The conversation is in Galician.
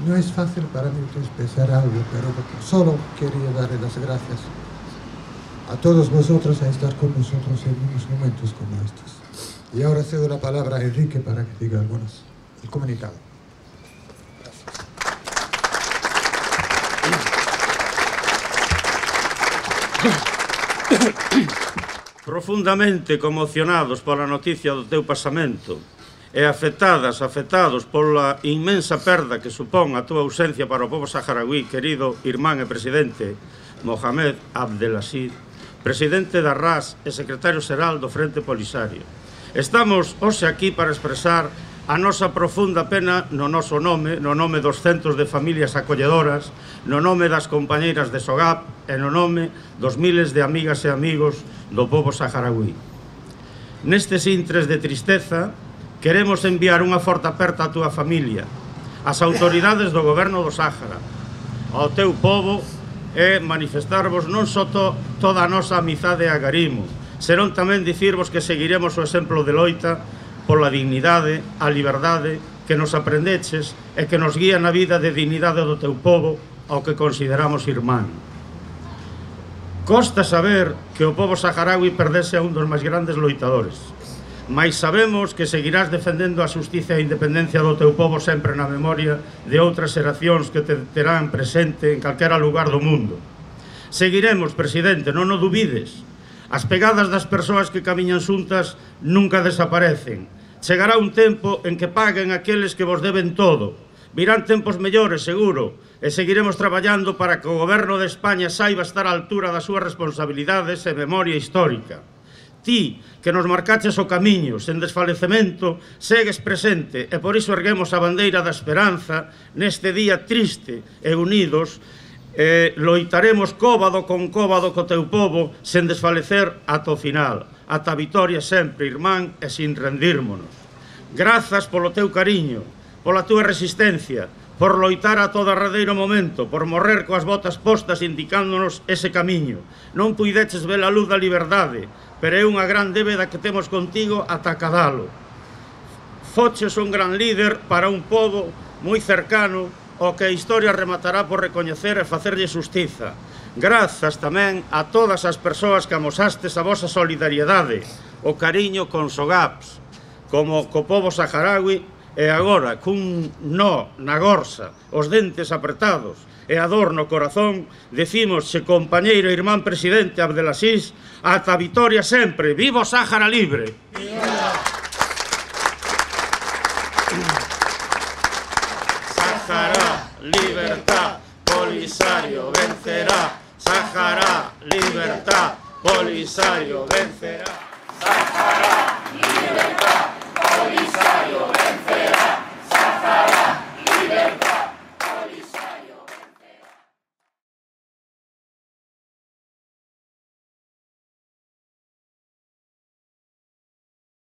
No es fácil para mí expresar algo, pero solo quería darle las gracias a todos vosotros a estar con nosotros en unos momentos como estos. Y ahora cedo la palabra a Enrique para que diga el comunicado. Profundamente conmocionados pola noticia do teu pasamento e afectados pola inmensa perda que supón a túa ausencia para o povo saharaui, querido irmán e presidente Mohamed Abdelaziz, presidente da RAS e secretario xeral do Frente Polisario. Estamos hoxe aquí para expresar a nosa profunda pena no noso nome, no nome dos centos de familias acolledoras, no nome das compañeiras de SOGAP e no nome dos miles de amigas e amigos do povo saharaui. Nestes intres de tristeza, queremos enviar unha forte aperta á túa familia, ás autoridades do goberno do Sáhara, ao teu povo e manifestarvos non só toda a nosa amizade e agarimo, senón tamén dicirvos que seguiremos o exemplo de loita pola dignidade, a liberdade que nos aprendeches e que nos guía na vida de dignidade do teu povo ao que consideramos irmán. Costa saber que o povo saharaui perdese a un dos máis grandes loitadores, mais sabemos que seguirás defendendo a xustiza e a independencia do teu povo sempre na memoria de outras xeracións que te terán presente en calquera lugar do mundo. Seguiremos, presidente, non o dubides. As pegadas das persoas que camiñan xuntas nunca desaparecen. Chegará un tempo en que paguen aqueles que vos deben todo. Virán tempos mellores, seguro, e seguiremos traballando para que o goberno de España saiba estar á altura das súas responsabilidades e memoria histórica. Ti, que nos marcaches o camiño, sen desfalecemento, segues presente e por iso erguemos a bandeira da esperanza neste día triste e unidos loitaremos cóbado con cóbado co teu povo sen desfalecer ata o final, ata a vitoria sempre, irmán, e sin rendírmonos. Grazas polo teu cariño, pola túa resistencia, por loitar a todo arredeiro momento, por morrer coas botas postas indicándonos ese camiño. Non puideches ver a luz da liberdade, pero é unha gran débeda que temos contigo ata acadalo. Foches un gran líder para un pobo moi cercano o que a historia rematará por recoñecer e facerlle xustiza. Grazas tamén a todas as persoas que amosastes a vosa solidariedade, o cariño con SOGAPs, como co povo saharaui, e agora, cun nó na gorsa, os dentes apretados e a dor no corazón, decimosche, compañeiro e irmán presidente Abdelaziz, ata a vitoria sempre. Viva o Sáhara libre! Sáhara, libertad, Polisario vencerá. Sáhara, libertad, Polisario vencerá.